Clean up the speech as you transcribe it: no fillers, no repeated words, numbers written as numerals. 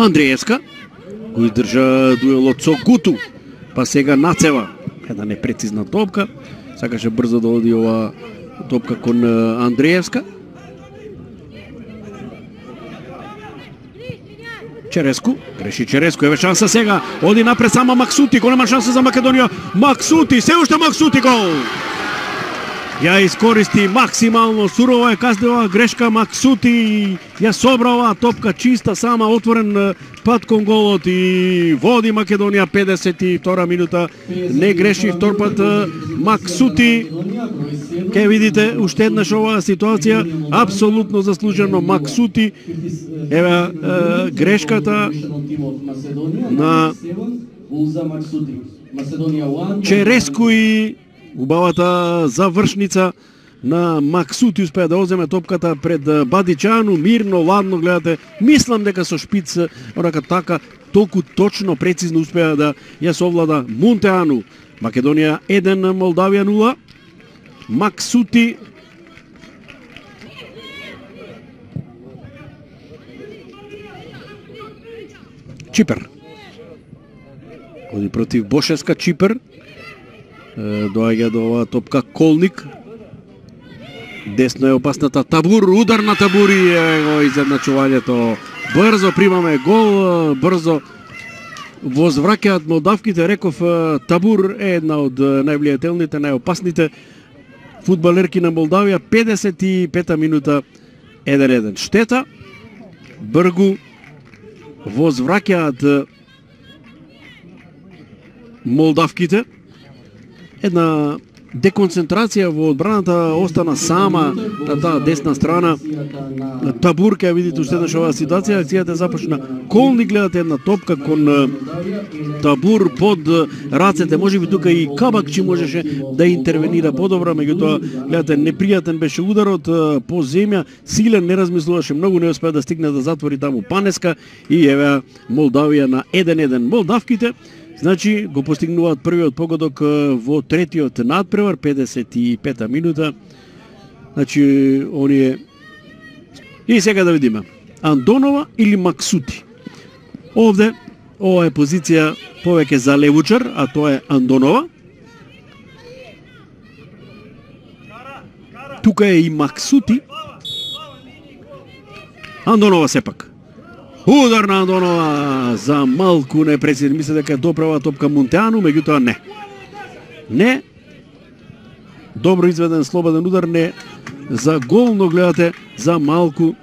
Андреевска го издржа дуелот со Гуту, па сега нацева една непрецизна топка, сакаше брзо да оди ова топка кон Андреевска. Череску, греши Череску, еве шанса сега, оди напред сама Максути, голема шанса за Македонија, Максути, се уште Максути гол! Ја искористи максимално, сурова е казнива грешка Максути, ја собра оваа топка чиста, сама отворен пат кон голот и води Македонија 52 минута, не греши втор пат Максути. Ке видите уште еднаш оваа ситуација, апсолутно заслужено Максути. Еве грешката на Череску и убавата завршница на Максути успеа да оземе топката пред Бадичану, мирно, ладно гледате. Мислам дека со шпиц, онака така, толку точно, прецизно успеа да ја совлада Мунтеану. Македонија 1, Молдавија 0. Максути Чипер. Оди против Бошевска Чипер. Доаѓа до оваа топка Колник. Десно е опасната Табур, удар на Табур и го изедначувањето. Брзо примаме гол, брзо возвраќаат молдавките. Реков, Табур е една од највлијателните, најопасните фудбалерки на Молдавија. 55-та минута 1-1. Штета, Бргу возвраќаат молдавките. Една деконцентрација во одбраната, остана сама на таа десна страна. Табур, ке видите уште еднаш оваа ситуација, акцијата започна. Колни гледате една топка кон Табур под рацете, можеби тука и Кабакчи можеше да интервенира подобро, меѓутоа гледате непријатен беше ударот по земја, силен, не размислуваше многу, не успеа да стигне да затвори таму Панеска и еве Молдавија на 1-1. Молдавките значи го постигнуваат првиот погодок во третиот надпревар, 55-та минута. Значи оние и сега да видиме Андонова или Максути. Овде ова е позиција повеќе за левучар, а тоа е Андонова. Тука е и Максути. Андонова сепак. Удар на Андонова за малку непрецизен. Мисля дека доправа топка Мунтеану, меѓутоа не. Не. Добро изведен слободен удар, не за гол, но гледате за малку